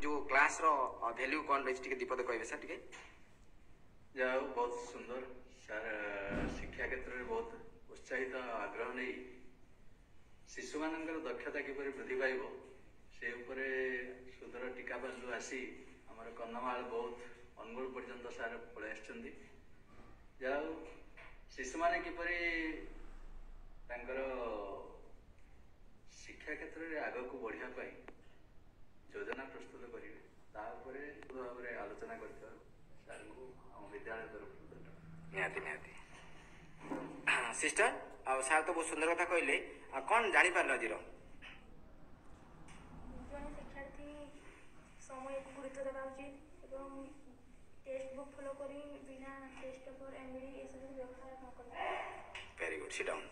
ଯେଉଁ କ୍ଲାସ୍ର ଭ୍ୟାଲ୍ୟୁ କ'ଣ ରହିଛି, ଟିକେ ଦିପଦ କହିବେ ସାର୍ ଟିକେ? ଯାହା ହଉ, ବହୁତ ସୁନ୍ଦର ସାର୍। ଶିକ୍ଷା କ୍ଷେତ୍ରରେ ବହୁତ ଉତ୍ସାହିତ, ଆଗ୍ରହ ନେଇ ଶିଶୁମାନଙ୍କର ଦକ୍ଷତା କିପରି ବୃଦ୍ଧି ପାଇବ ସେ ଉପରେ ସୁଦୂର ଟିକାବାଲିରୁ ଆସି ଆମର କନ୍ଧମାଳ, ବୌଦ୍ଧ, ଅନୁଗୁଳ ପର୍ଯ୍ୟନ୍ତ ସାର୍ ପଳେଇ ଆସିଛନ୍ତି। ଯାହା ହଉ, ଶିଶୁମାନେ କିପରି ତାଙ୍କର ଶିକ୍ଷା କ୍ଷେତ୍ରରେ ଆଗକୁ ବଢ଼ିବା ପାଇଁ ଯୋଜନା ପ୍ରସ୍ତୁତ କରିବେ, ତା ଉପରେ ଭାବରେ ଆଲୋଚନା କରିଥିବାରୁ ସାର୍ଙ୍କୁ ଆମ ବିଦ୍ୟାଳୟ ତରଫରୁ ଧନ୍ୟବାଦ। ନିହାତି ନିହାତି। ସିଷ୍ଟର, ଆଉ ସାର୍ ତ ବହୁତ ସୁନ୍ଦର କଥା କହିଲେ, ଆଉ କ'ଣ ଜାଣିପାରିଲ ଆଜିର? ଜଣେ ଶିକ୍ଷାର୍ଥୀ ସମୟକୁ ଗୁରୁତ୍ୱ ଦେବା ଉଚିତ ଏବଂ ଟେକ୍ସଟ ବୁକ୍ ଫଲୋ କରି ବିନା ଟେଷ୍ଟ ପେପର, ଏମ୍ବିଡି ଏସବୁ ବ୍ୟବହାର ନ କରିବା। Very good, sit down.